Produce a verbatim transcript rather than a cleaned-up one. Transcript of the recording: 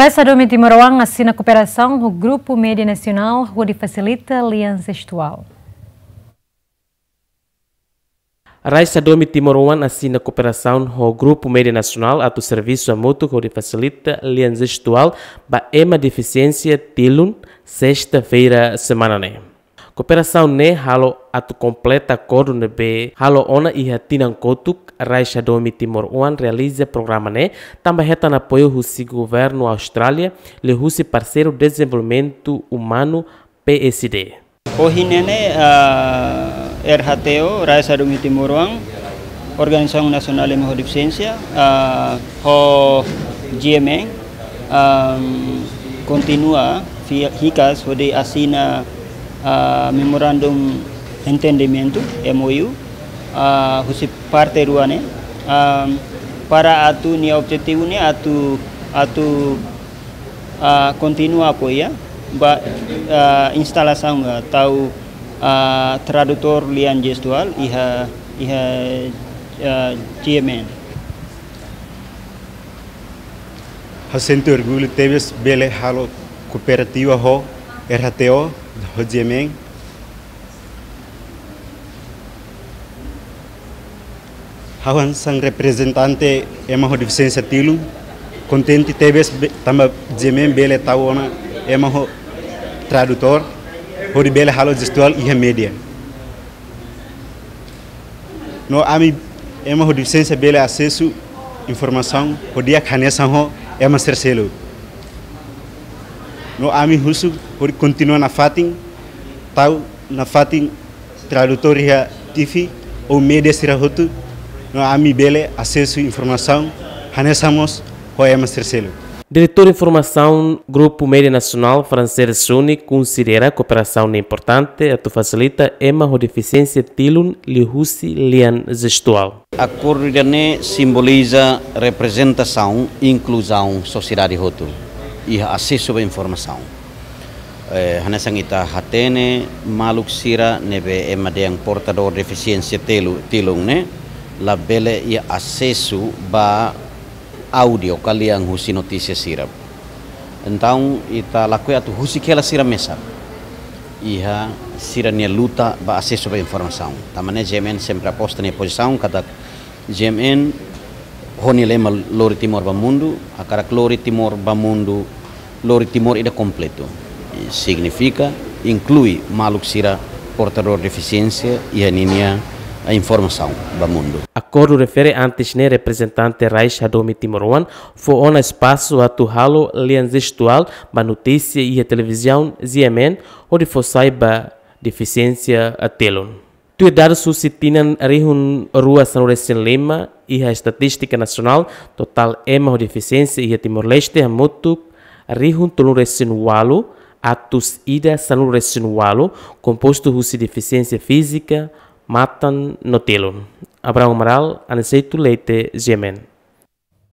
Rais Hadomi Timor Oan asina kooperasaun ho Grupu Média Nasionál hodi fasilita lian jestuál. Rais Hadomi Timor Oan asina kooperasaun ho Grupu Média Nasionál atu servisu hamutuk hodi fasilita lian jestuál ba ema defisiénsia tilun, sesta-feira semana ne'e. Kooperasaun ne'e halo atu kompleta akordu ne'ebé halo ona iha tinan kotuk. Rais Hadomi Timor Oan realiza programa ne'e tanba hetan apoiu husi Governu Austrália, liuhusi Parseiru Dezenvolvimentu Umanu, P S D. Ohin ne'e, ah, R H T O, Rais Hadomi Timor Oan, Organizasaun Nasionál Ema ho Defisiénsia, ah, ho G M N, ah, kontinua fi-, hikas hodi asina, ah, memorandum entendimentu, M O U, ah, husi parte rua ne'e, ah, para atu nia objetivu ne'e atu, atu, ah, kontinua apoia ba, ah, instalasaun, ah, tau, ah, tradutór lian jestuál iha, iha, ah, G M N. Ha'u sente orgullu tebes bele halo kooperasaun ho R H T O, ho G M N. Ha'u hanesan reprezentante ema ho defisiénsia tilun, kontente tebes be-, tanba G M N bele tau ona ema ho tradutór, hodi bele halo jestuál iha média. No ami ema ho defisiénsia bele asesu informasaun ho di'ak hanesan ho ema sira seluk. No ami husu hodi kontinua nafatin, tau nafatin tradutór iha T V ou média sira hotu, no ami bele asesu informasaun hanesan mós ho ema sira seluk. Diretór Informasaun Grupu Média Nasionál, Franceira Suni, konsidera kooperasaun ne'e importante atu fasilita ema ho defisiénsia tilun liuhusi lian jestuál. Akordu ida-ne'e simboliza reprezentasaun, inkluzaun sosiedade hotu iha asesu ba informasaun. Eh, hanesan ita hatene, maluk sira ne'ebé ema dehan portadór defisiénsia telu, tilun ne'e, labele iha asesu ba áudiu ka lian husi notísia sira. Entaun, ita lakohi atu husik hela sira mesak iha sira-nia luta ba asesu ba informasaun. Tanba ne'e G M N sempre aposta nia pozisaun katak G M N ho nia lema Lori Timor ba Mundu, hakarak lori Timor ba mundu, lori Timor ida kompletu. I signifika inklui maluk sira portadór defisiénsia iha ninia informasaun ba mundu. Akordu refere antes ne'e reprezentante Rais Hadomi Timor Oan fó ona espasu atu halo lian jestuál ba notísia iha televizaun G M N hodi fó sai ba defisiénsia tilun. Tuir dadus husi tinan rihun rua sanulu-resin-lima, iha estatístika nasionál, totál ema ho defisiénsia iha Timor-Leste hamutuk rihun tolu-resin-ualu, atus ida sanulu-resin-ualu, kompostu husi defisiénsia fízika, matan no tilun. Abrão Amaral, Aniceto Leite, G M N.